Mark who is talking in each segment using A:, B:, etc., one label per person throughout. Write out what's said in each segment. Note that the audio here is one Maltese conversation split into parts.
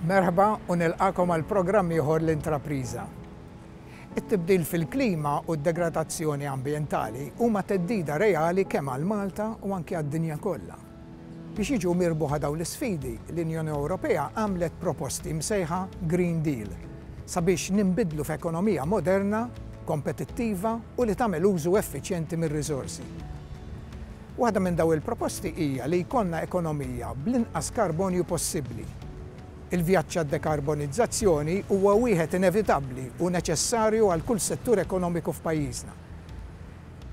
A: Merħba u nilqagħkom għal programm ieħor l-Intrapriża. It-tibdil fil-klima u d-degradazzjoni ambjentali huma theddida reali kemm għal Malta u anki għad-dinja kollha. Biex jiġu mirbuħa dawn l-isfidi, l-Unjoni Ewropea għamlet proposti msejħa Green Deal sabiex ninbidlu f'ekonomija moderna, kompetittiva u li tagħmel użu effiċjenti mir-riżorsi. Waħda minn dawn il-proposti hija li jkollna ekonomija bl-inqas karbonju possibbli. Il-vjaġġ għad-dekarbonizzazzjoni huwa wieħed inevitabbli u neċessarju għal kull settur ekonomiku f'pajjiżna.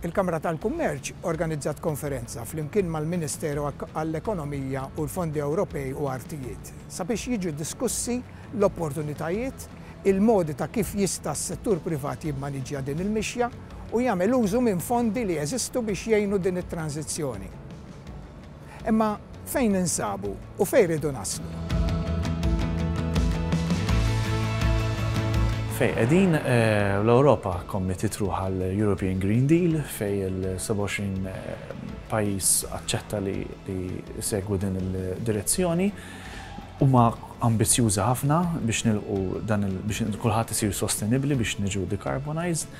A: Il-Kamra tal-Kummerċ organizzat konferenza flimkien mal-Ministeru għall-Ekonomija u l-Fondi Ewropej u Artijiet sabiex jiġu diskussi l-opportunitajiet, il-modi ta' kif jista' s-settur privat jimmaniġġja din il-mixja u jagħmel użu minn fondi li jeżistu biex jgħinu din it-tranżizzjoni. Imma fejn ninsabu u fejn rridu naslu?
B: Fejn qegħdin, l-Ewropa kkommittiet ruħha għall-European Green Deal fejn il-27 pajjiż aċċetta li jsegwu din il-direzzjoni. Huma ambizzjużi ħafna biex nilqu dan biex kulħadd isir sostenibbli biex niġu decarbonized.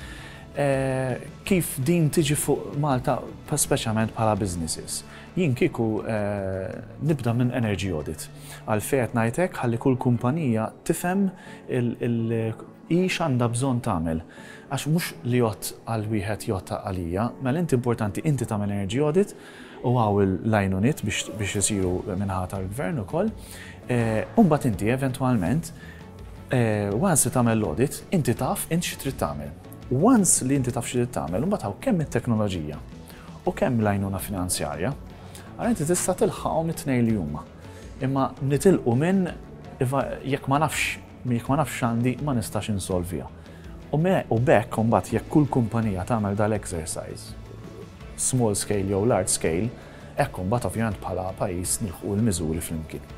B: Kif din tiġi fuq Malta, speċjalment bħala businesses? Jien kieku nibda minn energy audit. Għalfejn qed ngħid hekk ħalli kull kumpanija tifhem hi x'għandha bżonn tagħmel. Għax mhux li jgħodd għal wieħed jgħodd għalija, mela inti importanti inti tagħmel energy audit u hawn l-għajnuniet biex isiru min-naħa tal-gvern ukoll. U mbagħad inti eventwalment once li tagħmel l-audit, inti taf int xi trid tagħmel. Once li inti taf xi trid tagħmel, imbagħad hawn kemm it-teknoloġija u kemm l-għajnuna finanzjarja, allura inti tista' tilħaqhom it-tnejn li huma. Imma nitilqu minn jekk ma nafx jekk ma nafx x'għandi ma nistax insolviha. U b'hekk imbagħad jekk kull kumpanija tagħmel dal-exercise, small scale jew large scale, hekk imbagħad ovvjament bħala pajjiż nilħqu l-miżuri flimkien.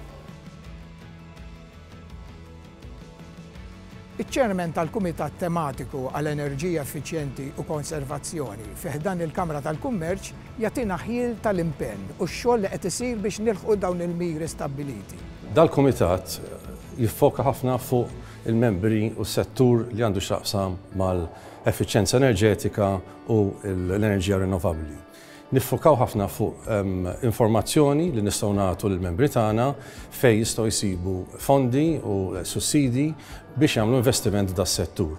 A: Iċ-Chairman tal-Kumitat Tematiku għal Enerġija Effiċjenti u Konservazzjoni fi ħdan il-Kamra tal-Kummerċ jagħtina ħjiel tal-impenn u x-xogħol li qed isir biex nilħqu dawn il-miri stabbiliti.
C: Dal-kumitat jiffoka ħafna fuq il-membri u s-settur li għandu x'jaqsam mal-effiċjenza enerġetika u l-enerġija rinnovabbli. Niffukaw ħafna fuq informazzjoni li nistgħu nagħtu lill-membri tagħna fejn jistgħu jsibu fondi u sussidji biex jagħmlu investiment f'das-settur.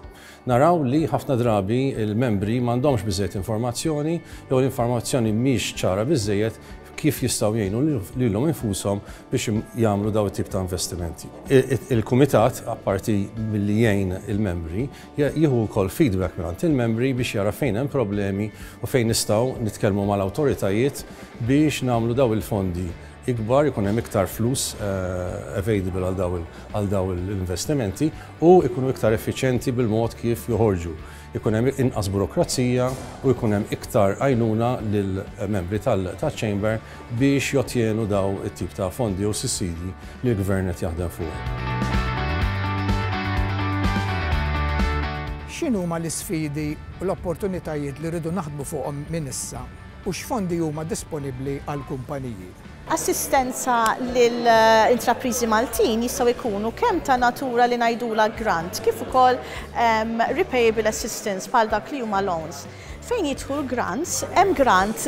C: Naraw li ħafna drabi l-membri m'għandhomx biżżejjed informazzjoni jew l-informazzjoni mhix ċara biżżejjed kif jistgħu jgħinu lilhom infushom biex jagħmlu daw it-tip ta' investimenti. Il-kumitat, apparti milli jgħin il-membri, Jieħu wkoll feedback mingħand il-membri biex jara fejn hemm problemi u fejn nistgħu nitkellmu mal-awtoritajiet biex nagħmlu dawn il-fondi ikbar, ikun hemm iktar flus available għal dawn l-investimenti u jkunu iktar effiċjenti bil-mod kif joħorġu. Ikun hemm inqas burokrazija u jkun hemm iktar għajnuna lill-membri tal-Chamber biex jottjenu dawn it-tip ta' fondi jew sussidji li l-Gvern qed jaħdem fuqhom.
A: X'inhuma l-isfidi u l-opportunitajiet li rridu naħdmu fuqhom minn issa u x'fondi huma disponibbli għall-kumpaniji?
D: Assistenza lil intrapriżi Maltin jistgħu jkunu kemm ta' natura li ngħidulha grant kif ukoll repayable assistance bħal dak li huma loans. Fejn jidħlu l-grants, hemm grant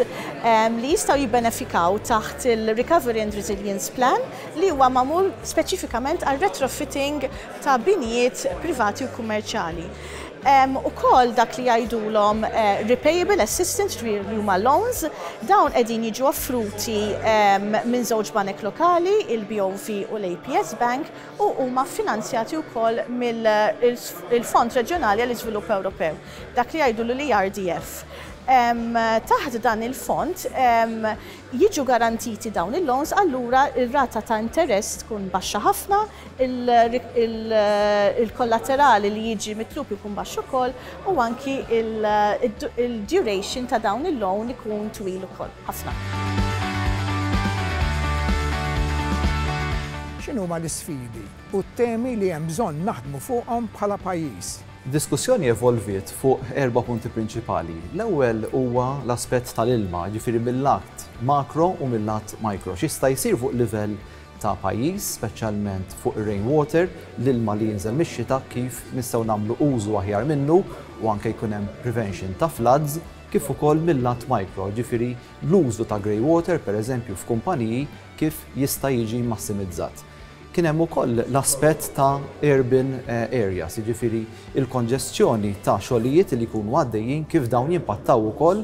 D: li jistgħu jibbenefikaw taħt il-Recovery and Resilience Plan li huwa magħmul speċifikament għal retrofitting ta' binjiet privati u kummerċjali. Hemm ukoll dak li jgħidulhom repayable assistance, ġifieri li huma loans, dawn qegħdin jiġu offruti minn żewġ banek lokali, il-BOV u l-APS Bank, u huma ffinanzjati wkoll mill-Fond Reġjonali għall-Iżvilupp Ewropew. dak li jgħidulu l-ERDF. Taħt dan il-fond jiġu garantiti dawn il-loans allura r-rata ta' interess tkun baxxa ħafna, il-kollaterali li jiġi mitlub ikun baxx ukoll u anki il-duration ta' dawn il-loan ikun twil ukoll ħafna.
A: X'inhuma l-isfidi u t-temi li hemm bżonn naħdmu fuqhom bħala pajjiż?
E: Id-diskussjoni evolviet fuq erba' punti prinċipali. L-ewwel huwa l-aspett tal-ilma, jiġifieri mil-lat makro u mil-lat micro. X'jista' jsir fuq livell ta' pajjiż, speċjalment fuq ir-rainwater, l-ilma li jinżel mix-xita kif nistgħu nagħmlu użu aħjar minnu u anke jkun hemm prevention ta' floods, kif ukoll mil-lat micro, jiġifieri l-użu ta' grey water pereżempju f'kumpaniji kif jista' jiġi massimizzat. Kien hemm ukoll l-aspett ta' urban areas, jiġifieri l-konġestjoni ta' xogħlijiet li jkunu għaddejjin kif dawn jimpattaw ukoll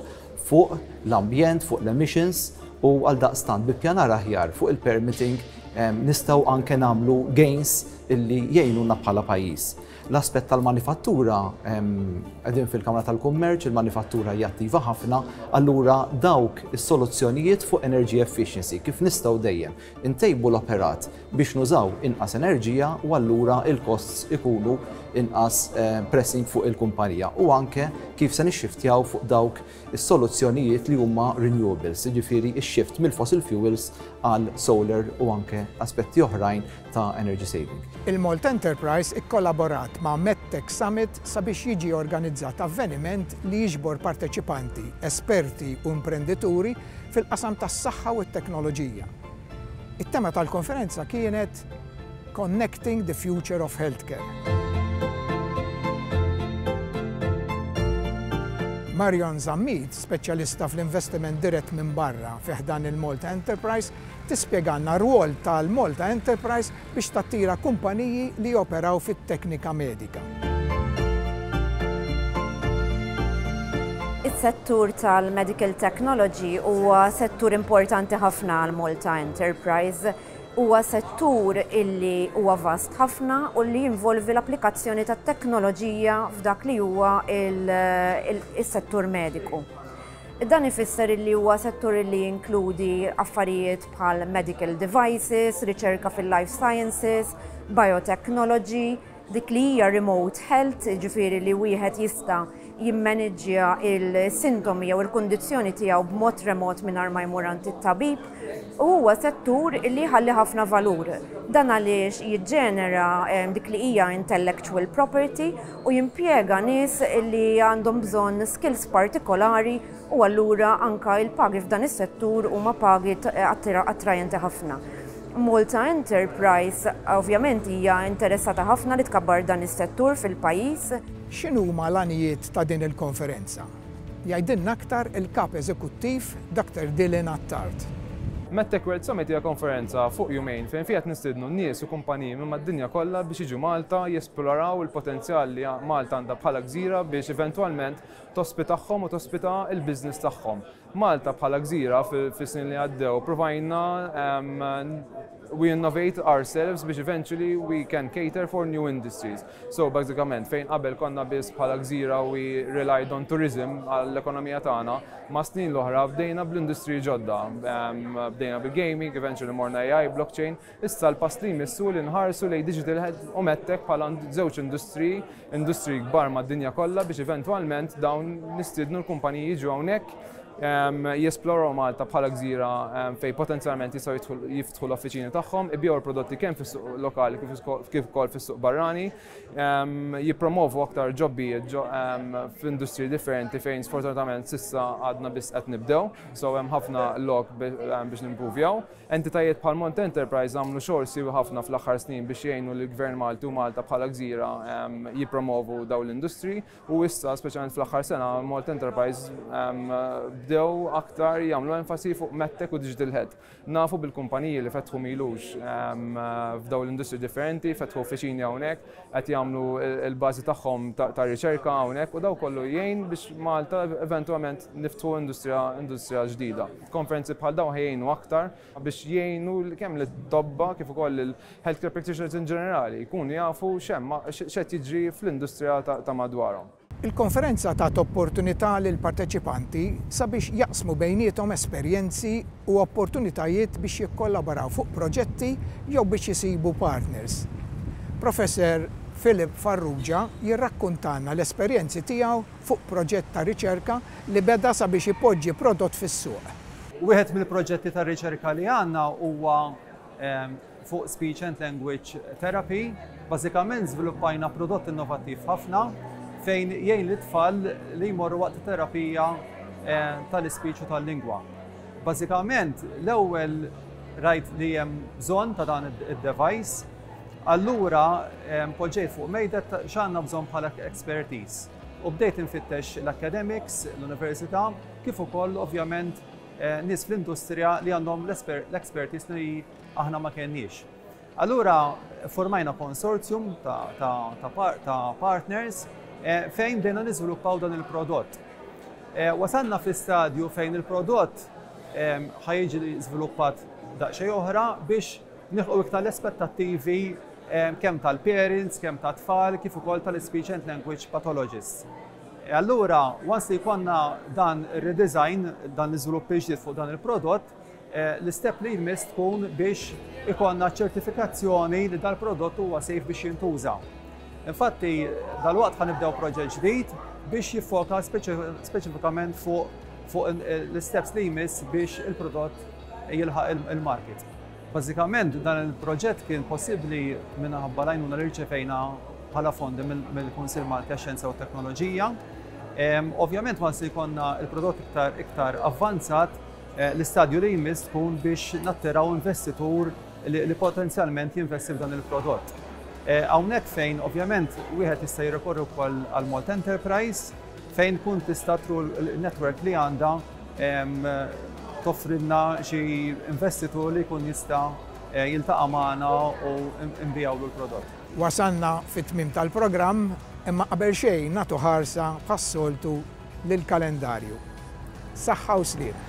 E: fuq l-ambjent, fuq l-emissions u għaldaqstant bi ppjanar aħjar fuq il-permitting nistgħu anke nagħmlu gains illi jgħinuna bħala pajjiż. L-aspett tal-manifattura, qegħdin fil-Kamra tal-Kummerċ, il-manifattura hija attiva ħafna, allura dawk is-soluzzjonijiet fuq energy efficiency, kif nistgħu dejjem intejbu l-operat biex nużaw inqas enerġija u allura l-costs ikunu inqas pressing fuq il-kumpanija u anke kif se nixxiftjaw fuq dawk is-soluzzjonijiet li huma renewables, jiġifieri x-shift mill-fossil fuels għal solar u anke aspetti oħrajn ta' energy saving.
A: Il-Malta Enterprise ikkollaborat ma' MedTech Summit sabiex jiġi organizzat avveniment li jiġbor parteċipanti, esperti u imprendituri fil-qasam tas-saħħa u t-teknoloġija. It-tema tal-konferenza kienet Connecting the Future of Healthcare. Marion Zammit, speċjalista fl-investiment dirett minn barra fi ħdan il-Malta Enterprise, tispjegalna r-rwol tal-Malta Enterprise biex tattira kumpaniji li joperaw fit-teknika medika.
F: Is-settur tal-medical technology huwa settur importanti ħafna għal Malta Enterprise. Huwa settur illi huwa vast ħafna u li jinvolvi l-applikazzjoni tat-teknoloġija f'dak li huwa il-settur mediku. Dan ifisser illi huwa settur illi jinkludi affarijiet bħal medical devices, riċerka fil-life sciences, biotechnology, dik li hija remote health, jiġifieri li wieħed jista' jimmaniġġja il-sintomi jew il-kundizzjoni tiegħu b'mod remot mingħajr ma jmur għand it-tabib, u huwa settur li jħalli ħafna valur. Dan għaliex jiġġenera dik li hija intellectual property u jimpjega nies li għandhom bżonn skills partikolari u allura anka il-pagi f'dan is-settur huma pagi attrajenti ħafna. Malta Enterprise ovvjament hija interessata ħafna li tkabbar dan is-settur fil-pajjiż.
A: X'inhuma l-għanijiet ta' din il-konferenza? Jgħidilna aktar il-Kap Eżekuttiv Dr Dylan Attard.
G: MedTech World Summit hija konferenza fuq jumejn fejn fiha qed nistiednu nies u kumpaniji minn mad-dinja kollha biex jiġu Malta jesploraw il-potenzjal li Malta għandha bħala gżira biex eventwalment tospitahom u tospita l-business tagħhom. Malta bħala gżira fis-snin li għaddew provajna we innovate ourselves biex eventually we can cater for new industries. So bażikament fejn qabel konna biss bħala gżira we relied on tourism għall-ekonomija tagħna, ma' snin l-oħra bdejna bl-industriji ġodda. Bdejna bil-gaming, eventually morna AI, blockchain. Issa l-pass li jmiss hu li nħarsu lejn digital health u medtech bħala żewġ industriji, industriji kbar mad-dinja kollha biex eventwalment dawn nistiednu l-kumpaniji jiġu hawnhekk jesploraw Malta bħala gżira fejn potenzjalment jistgħu jiftħu l-offiċini tagħhom, ibigħu l-prodotti kemm fis-suq lokali kif ukoll fis-suq barrani, jippromovu aktar ġobbijiet f'industriji differenti fejn sfortunatament s'issa għadna biss qed nibdew, so hemm ħafna lok biex nimprovjaw. Entitajiet bħal Mont Enterprise għamlu xogħol siewi ħafna fl-aħħar snin biex jgħinu lill-Gvern Malti u Malta bħala gżira jippromovu dawn l-industriji u issa, speċjalment fl-aħħar sena, Malt Enterprise bdew aktar jagħmlu enfasi fuq MedTech u Digital Health. Nafu bil-kumpaniji li fetħu m'ilux f'dawn l-industriji differenti, fetħu uffiċini hawnhekk, qed jagħmlu l-bażi tagħhom ta' riċerka hawnhekk u daw kollu jgħin biex Malta eventwalment niftħu industrija industrija ġdida. Konferenzi bħal dawn ħa jgħinu aktar biex jgħinu kemm lit-tobba kif ukoll lill-healthcare practitioners in ġenerali jkunu jafu x'hemm x'qed jiġri fl-industrija ta' madwarhom.
A: Il-konferenza tat opportunità lill-parteċipanti sabiex jaqsmu bejniethom esperjenzi u opportunitajiet biex jikkollaboraw fuq proġetti jew biex isibu partners. Professor Philip Farrugia jirrakkuntalna l-esperjenzi tiegħu fuq proġett ta' riċerka li beda sabiex ipoġġi prodott fis-suq.
H: Wieħed mill-proġetti ta' riċerka li għandna huwa fuq speech and language therapy. Bażikament żviluppajna prodott innovattiv ħafna fejn jgħin lit-tfal li jmorru waqt terapija tal-ispeech u tal-lingwa. Bażikament l-ewwel Rajt li hemm bżonn ta' dan id-device. Allura poġġejt fuq mejda x'għandna bżonn bħala expertise. U bdejt infittex l-academics, l-università, kif ukoll ovvjament eh, nies fl-industrija li għandhom l-expertise li aħna ma kenniex. Allura formajna consortium ta', ta, ta, ta partners eh, fejn bdejna niżviluppaw dan il-prodott. Eh, wasalna fi stadju fejn il-prodott ħa jiġi żviluppat daqsxejn oħra biex nilħqu iktar l-aspettattivi kemm tal-parents, kemm tat-tfal, kif ukoll tal-speech and language pathologists. E allura, once li jkollna dan ir-redesign, dan l-iżvilupp ġdid fuq dan il-prodott, eh, l-istep li jmiss tkun biex ikollna ċertifikazzjoni li dal-prodott huwa safe biex jintuża. Infatti, dal-waqt ħa nibdew proġett ġdid biex jiffoka speċifikament fuq fuq l-steps li jmiss biex il-prodott jilħaq il-market. Bażikament dan il-proġett kien possibbli minħabba l-għajnuna li rċevejna bħala fondi mill-Kunsill Malti għax-Xjenza u Teknoloġija. Ovvjament ma se jkollna il-prodott iktar iktar avvanzat, eh, l-istadju li jmiss tkun biex nattiraw investitur li potenzjalment jinvesti f'dan il-prodott. Eh, hawnhekk fejn ovvjament wieħed jista' jirrikorri wkoll għal Malta Enterprise fejn tkun tista' through il-network li għandha toffrilna xi investitur li jkun jista' eh, jiltaqa' magħna u nbigħulu l-prodott.
A: Wasalna fit-tmiem tal-programm, imma qabel xejn nagħtu ħarsa bħas-soltu lill-kalendarju. Saħħa u sliem.